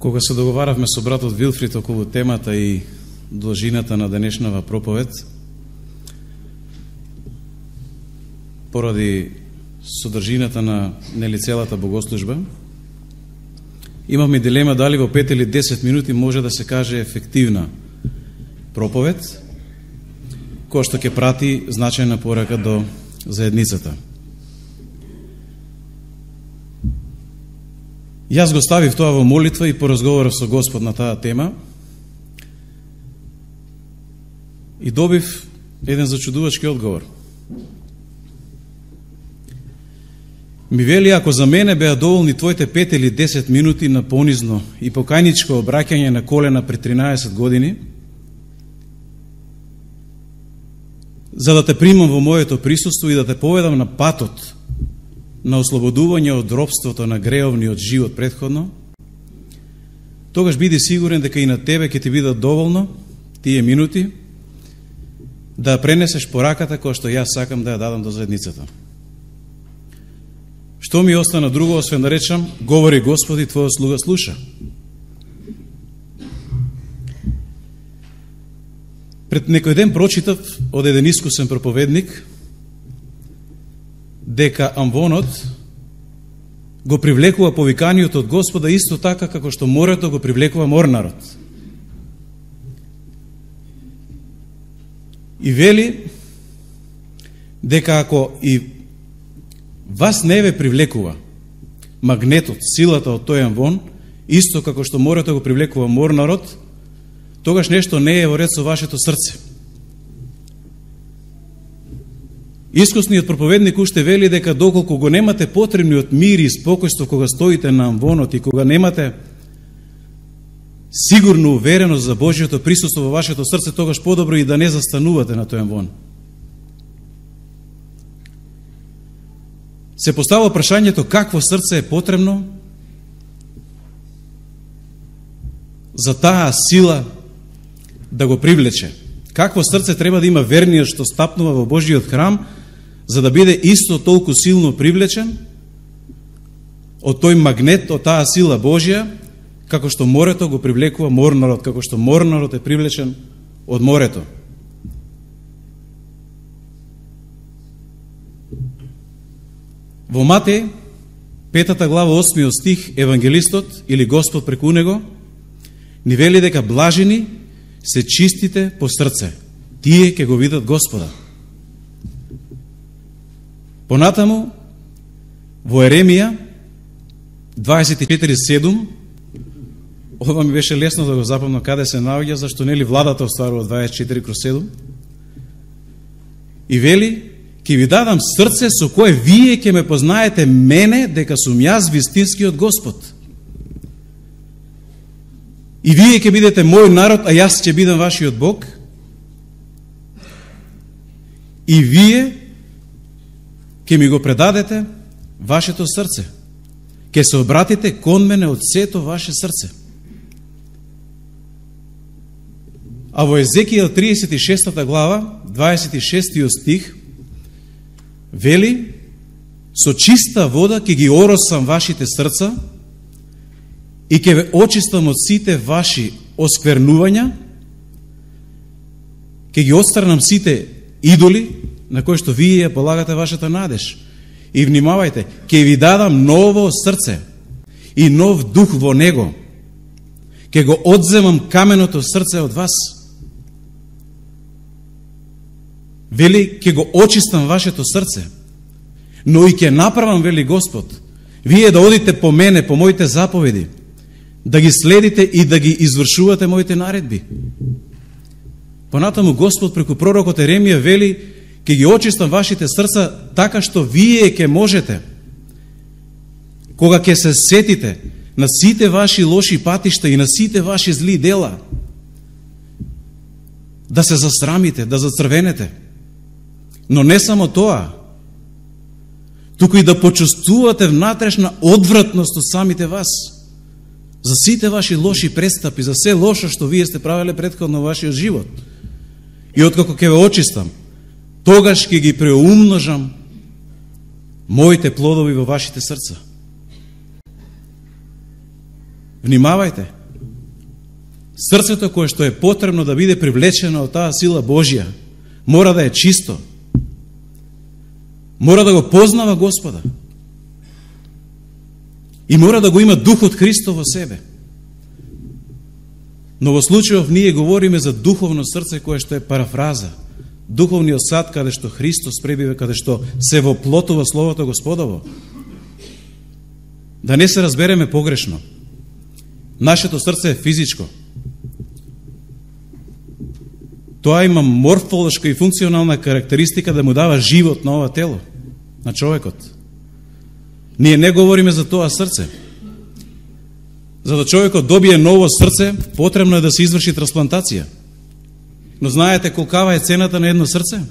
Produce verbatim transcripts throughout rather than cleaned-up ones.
Кога се договаравме со братот Вилфрид околу темата и должината на денешнава проповед, поради содржината на нели целата богослужба, имавме дилема дали во пет или десет минути може да се каже ефективна проповед, која што ќе прати значајна порака до заедницата. Јас го ставив тоа во молитва и поразговарав со Господ на таа тема и добив еден зачудувачки одговор. Ми вели, ако за мене беа доволни твоите пет или десет минути на понизно и покајничко обраќање на колена пред тринаесет години, за да те примам во моето присуство и да те поведам на патот на ослободување од робството на греовниот живот претходно, тогаш биди сигурен дека и на тебе ќе ти бидат доволно тие минути да пренесеш пораката која што јас сакам да ја дадам до заедницата. Што ми остана друго, освен да речам, говори Господи, твојот слуга слуша. Пред некој ден прочитав од еден искусен проповедник дека амвонот го привлекува повиканието од Господа исто така како што морето го привлекува морнарот. И вели дека ако и вас не ве привлекува магнетот, силата од тој амвон, исто како што морето го привлекува морнарот, тогаш нешто не е во ред со вашето срце. Искусниот проповедник уште вели дека доколку го немате потребниот мир и спокојство кога стоите на амвонот и кога немате сигурно увереност за Божјото присуство во вашето срце, тогаш подобро и да не застанувате на тој амвон. Се постава прашањето какво срце е потребно за таа сила да го привлече. Какво срце треба да има верниот што стапнува во Божиот храм, за да биде исто толку силно привлечен од тој магнет, од таа сила Божја, како што морето го привлекува морнарот, како што морнарот е привлечен од морето. Во Матеј, петата глава, осмиот стих, евангелистот или Господ преку него ни вели дека блажени се чистите по срце, тие ќе го видат Господа. Понатаму, во Еремија, дваесет и четири седум, ова ми беше лесно да го запомнам каде се наоѓа, зашто нели владата остварува дваесет и четири кроз седум, и вели, ќе ви дадам срце со кое вие ќе ме познаете мене, дека сум јас вистинскиот Господ. И вие ќе бидете мој народ, а јас ќе бидам вашиот Бог. И вие ќе ми го предадете вашето срце. Ќе се обратите кон мене од сето ваше срце. А во Езекијел тридесет и шеста глава, дваесет и шестиот стих, вели, со чиста вода ќе ги оросам вашите срца и ќе ве очистам од сите ваши осквернувања, ќе ги отстранам сите идоли на кои што вие ја полагате вашата надеж. И внимавајте, ќе ви дадам ново срце и нов дух во него. Ќе го одземам каменото срце од вас. Вели, ќе го очистам вашето срце, но и ќе направам, вели Господ, вие да одите по мене, по моите заповеди, да ги следите и да ги извршувате моите наредби. Понатаму Господ преку пророкот Еремија вели, ќе ги очистам вашите срца така што вие ќе можете, кога ќе се сетите на сите ваши лоши патишта и на сите ваши зли дела, да се засрамите, да зацрвенете. Но не само тоа, туку и да почувствувате внатрешна одвратност од самите вас, за сите ваши лоши престапи, за се лошо што вие сте правеле претходно во вашиот живот. И откако ќе ве очистам, тогаш ќе ги преумножам моите плодови во вашите срца. Внимавајте. Срцето кое што е потребно да биде привлечено од таа сила Божја, мора да е чисто. Мора да го познава Господа. И мора да го има Духот Христов во себе. Но во случајов ние говориме за духовно срце кое што е парафраза. Духовниот сад каде што Христос пребива, каде што се воплотува Словото Господово. Да не се разбереме погрешно. Нашето срце е физичко. Тоа има морфолошка и функционална карактеристика да му дава живот на ова тело, на човекот. Ние не говориме за тоа срце. За да човекот добие ново срце, потребно е да се изврши трансплантација. Но знаете колкава е цената на едно срце?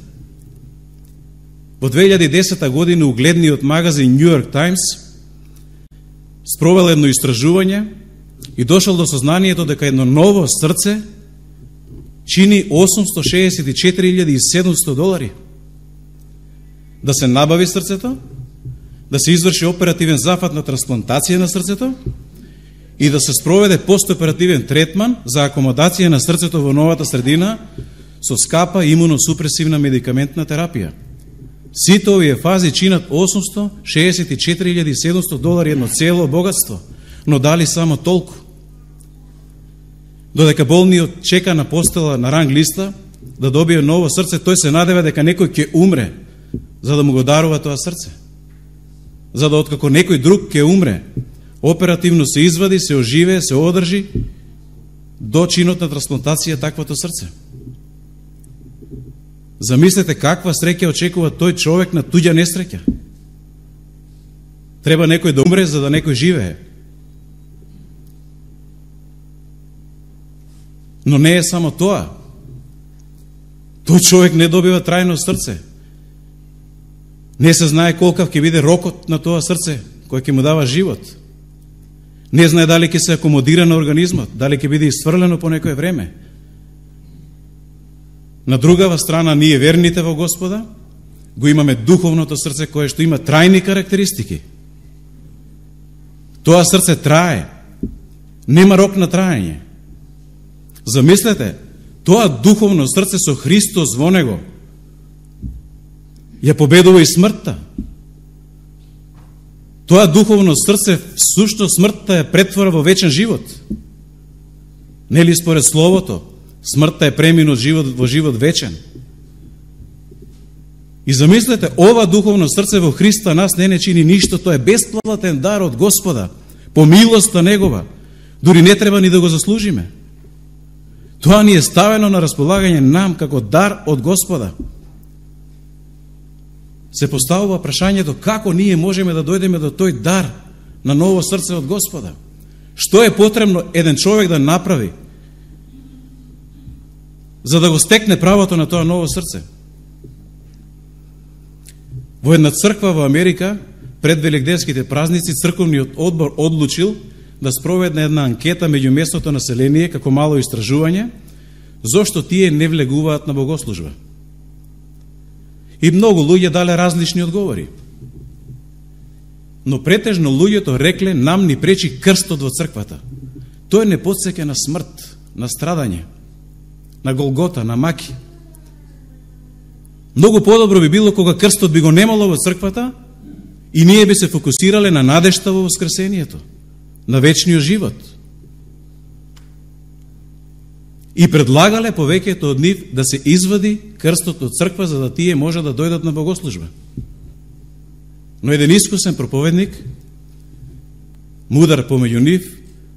Во две илјади и десета година угледниот магазин New York Times спровел едно истражување и дошол до сознанието дека едно ново срце чини осумсто шеесет и четири илјади и седумсто долари. Да се набави срцето, да се изврши оперативен зафат на трансплантација на срцето и да се спроведе постоперативен третман за акомодација на срцето во новата средина со скапа имуносупресивна медикаментна терапија. Сите овие фази чинат осумсто шеесет и четири илјади и седумсто долари, едно цело богатство, но дали само толку. Додека болниот чека на постела на ранг листа да добие ново срце, тој се надева дека некој ќе умре за да му го дарува тоа срце. За да откако некој друг ќе умре, оперативно се извади, се оживее, се одржи до чинот на трансплантација таквото срце. Замислете каква среќа очекува тој човек на туѓа несреќа. Треба некој да умре за да некој живее. Но не е само тоа. Тој човек не добива трајно срце. Не се знае колкав ќе биде рокот на тоа срце, кој ќе му дава живот. Не знае дали ќе се акомодира на организмот, дали ќе биде исфрлено по некое време. На другава страна, ние верните во Господа, го имаме духовното срце кое што има трајни карактеристики. Тоа срце трае. Нема рок на траење. Замислете, тоа духовно срце со Христос во него ја победува и смртта. Тоа духовно срце всушност смртта ја претвора во вечен живот. Нели според Словото, смртта е преминот живот во живот вечен. И замислете, ова духовно срце во Христа нас не не чини ништо, тоа е бесплатен дар од Господа, по милоста Негова. Дури не треба ни да го заслужиме. Тоа ни е ставено на располагање нам како дар од Господа. Се поставува прашањето како ние можеме да дојдеме до тој дар на ново срце од Господа. Што е потребно еден човек да направи за да го стекне правото на тоа ново срце? Во една црква во Америка, пред великденските празници, црковниот одбор одлучил да спроведне една анкета меѓу местното население како мало истражување, зошто тие не влегуваат на богослужба. И многу луѓе дале различни одговори. Но претежно луѓето рекле нам ни пречи крстот во црквата. Тој не потсеќа на смрт, на страдање, на Голгота, на маки. Многу подобро би било кога крстот би го немало во црквата и ние би се фокусирале на надежта во воскресението, на вечниот живот. И предлагале повеќето од нив да се извади крстот од црква за да тие може да дојдат на богослужба. Но еден искусен проповедник, мудар помеѓу нив,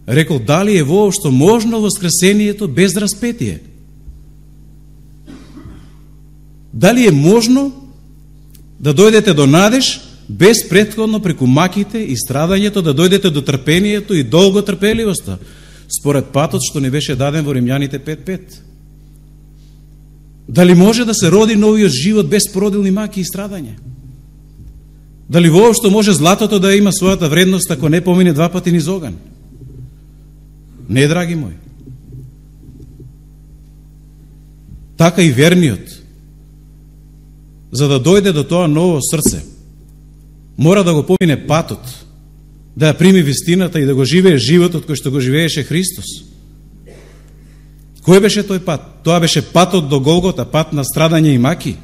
рекол дали е воопшто можно воскресението без распетие? Дали е можно да дојдете до надеж без претходно преку маките и страдањето да дојдете до трпението и долготрпеливоста, според патот што не беше даден во Римјаните пет пет? Дали може да се роди новиот живот без породилни маки и страдање? Дали воопшто може златото да има својата вредност ако не помине два пати низ оган? Не, драги мои. Така и верниот, за да дојде до тоа ново срце, мора да го помине патот, да ја прими вистината и да го живее животот кој што го живееше Христос. Кој беше тој пат? Тоа беше патот до Голгота, пат на страдање и маки.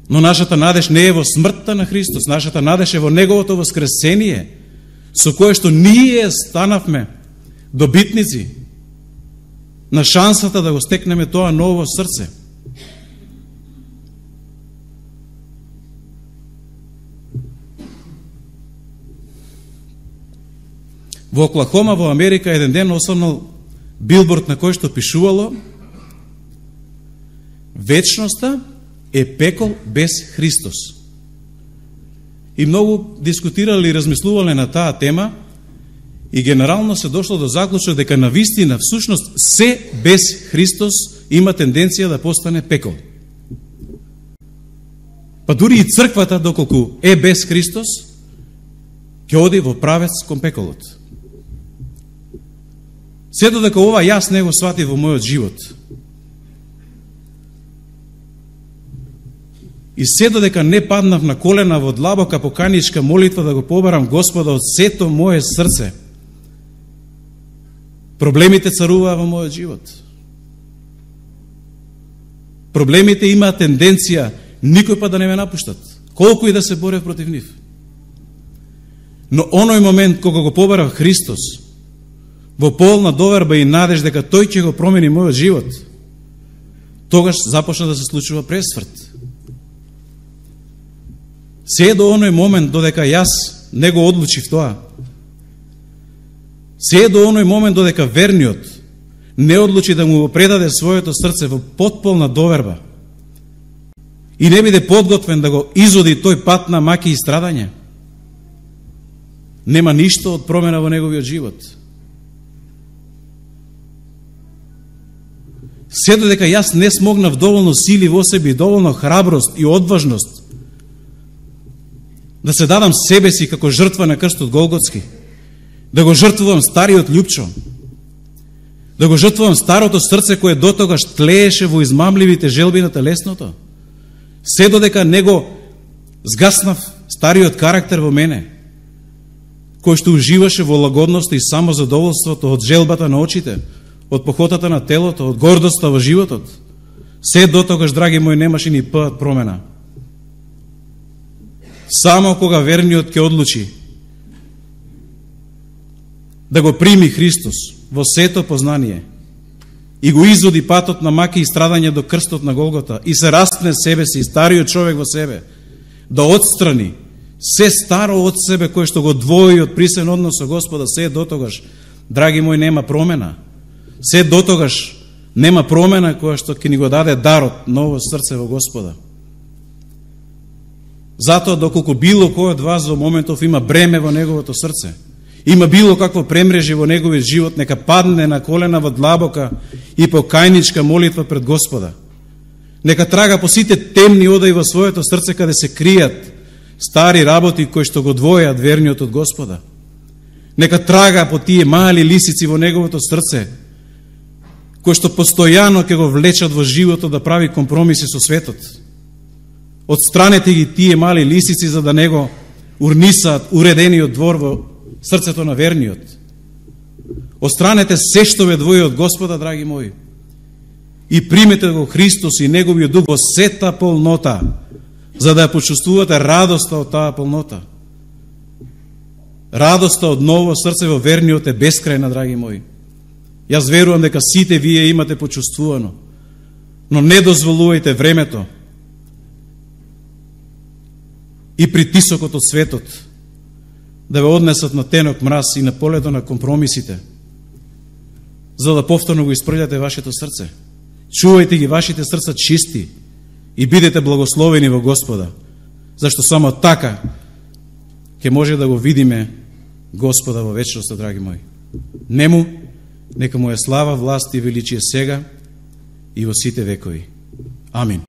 Но нашата надеж не е во смртта на Христос, нашата надеж е во Неговото воскресение, со кое што ние станавме добитници на шансата да го стекнеме тоа ново срце. Во Оклахома, во Америка, еден ден осврнал билборд на кој што пишувало: вечноста е пекол без Христос. И многу дискутирали и размислувале на таа тема и генерално се дошло до заклучок дека на вистина, всушност, се без Христос има тенденција да постане пекол. Па дури и црквата, доколку е без Христос, ќе оди во правец кон пеколот. Се додека ова јас не го сватив во мојот живот, и се додека не паднав на колена во длабока поканичка молитва да го побарам Господа од сето мое срце, проблемите царуваа во мојот живот. Проблемите имаат тенденција никој па да не ме напуштат, колку и да се борев против нив. Но оној момент кога го побарав Христос, во полна доверба и надеж дека Тој ќе го промени мојот живот, тогаш започна да се случува пресврт. Се до оној момент додека јас не го одлучив тоа, се до оној момент додека верниот не одлучи да му го предаде своето срце во потполна доверба и не биде подготвен да го изоди тој пат на маки и страдање, нема ништо од промена во неговиот живот. Се додека јас не смогнав доволно сили во себе, доволно храброст и одважност да се дадам себе си како жртва на крстот Голготски, да го жртвувам стариот љупчо, да го жртвувам старото срце кое дотогаш тлееше во измамливите желби на телесното, се додека не го згаснав стариот карактер во мене, кој што уживаше во лагодност и самозадоволството од желбата на очите, од похотата на телото, од гордоста во животот, се дотогаш, драги мои, немаше ни пат промена. Само кога верниот ќе одлучи да го прими Христос во сето познание и го изводи патот на маки и страдање до крстот на Голгота и се растне себе си, стариот човек во себе, да отстрани се старо од себе кој што го двои од присен однос со Господа, се дотогаш, драги мои, нема промена. Се дотогаш нема промена која што ќе ни го даде дарот ново срце во Господа. Затоа, доколку било кој од вас во моментов има бреме во неговото срце, има било какво премрежи во неговиот живот, нека падне на колена во длабока и покајничка молитва пред Господа. Нека трага по сите темни одаи во своето срце каде се кријат стари работи кои што го двојат верниот од Господа. Нека трага по тие мали лисици во неговото срце, кои што постојано ќе го влечат во животот да прави компромиси со светот. Отстранете ги тие мали лисици за да не го урнисаат уредениот двор во срцето на верниот. Отстранете се што ве двои од Господа, драги мои, и примете го Христос и Неговиот дух во сета полнота, за да ја почувствувате радоста од таа полнота. Радоста од ново срце во верниот е бескрајна, драги мои. Јас верувам дека сите вие имате почувствувано, но не дозволувајте времето и притисокот од светот да ве однесат на тенок мраз и на полето на компромисите, за да повторно го испрљате вашето срце. Чувајте ги вашите срца чисти и бидете благословени во Господа, зашто само така ќе може да го видиме Господа во вечноста, драги мои. Нему нека му е слава, власт и величие сега и во сите векови. Амин.